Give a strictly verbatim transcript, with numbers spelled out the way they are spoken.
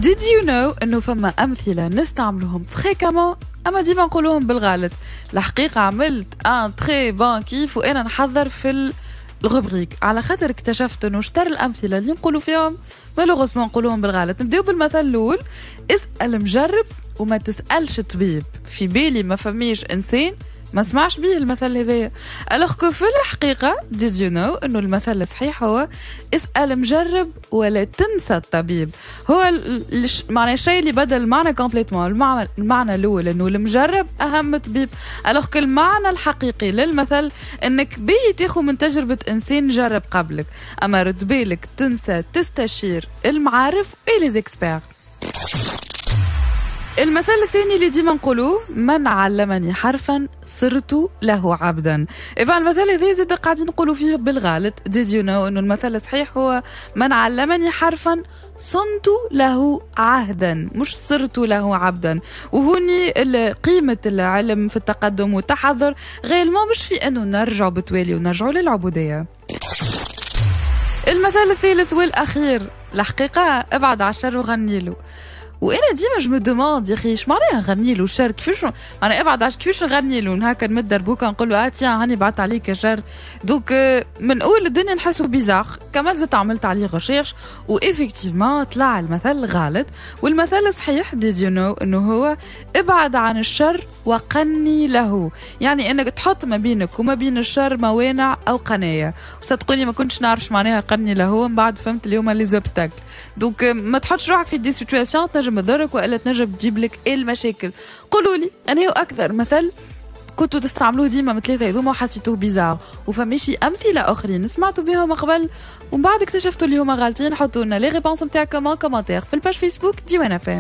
Did you know انه فما امثلة نستعملوهم fréquemment اما ديما نقولوهم بالغلط؟ الحقيقة عملت un très bon kiff وانا نحضر في ال rubrique، على خاطر اكتشفت انه شطر الامثلة اللي نقولوا فيهم malheureusement نقولوهم بالغلط. نبداو بالمثل الاول: اسال مجرب وما تسالش طبيب. في بالي ما فماش انسان ما سمعش بيه المثل هذايا، alors que في الحقيقة did you know انه المثل الصحيح هو اسال مجرب ولا تنسى الطبيب. هو معنى الشيء اللي بدل المعنى complètement. المعنى, المعنى الاول انه المجرب اهم طبيب، alors que المعنى الحقيقي للمثل انك باهي تاخذ من تجربه انسان جرب قبلك، اما رد بالك تنسى تستشير المعارف et les experts. المثل الثاني اللي ديما نقولوه: من علمني حرفا صرت له عبدا. إذا المثل هذا زاد قاعدين نقولوا فيه بالغلط. did you know انه المثل الصحيح هو من علمني حرفا صنت له عهدا، مش صرت له عبدا. وهوني قيمة العلم في التقدم والتحضر réellement، مش في انه نرجع بتوالي ونرجع للعبودية. المثل الثالث والاخير، الحقيقة: ابعد على الشر وغني له. وانا ديما je me demande يا اخي اش معناها نغني له الشر؟ كيفاش معناها ابعد عش كيفاش نغني له؟ هكا نمد دربوكه نقول له اه tiens هاني بعدت عليك يا شر؟ donc من اول الدنيا نحسه bizarre. كملت زدت عملت عليه recherche و effectivement طلع المثل غلط، والمثل الصحيح did you know انه هو ابعد عن الشر وقني له، يعني انك تحط ما بينك وما بين الشر موانع او قنايه. وصدقوني ما كنتش نعرف معناها قني له، من بعد فهمت اللي هما les obstacles. donc ما تحطش روحك في des situations تنجم تضرك والا تنجم تجيب لك المشاكل. قولوا لي انا هو اكثر مثل كنتوا تستعملوه ديما من ثلاثة هذوما وحسيتوه bizarre، وفماشي أمثلة أخرين سمعتوا بهم قبل ومن بعد اكتشفتوا اللي هما غالطين؟ حطوا لنا les réponses نتاعكم en commentaire في ال page Facebook ديوان اف ام.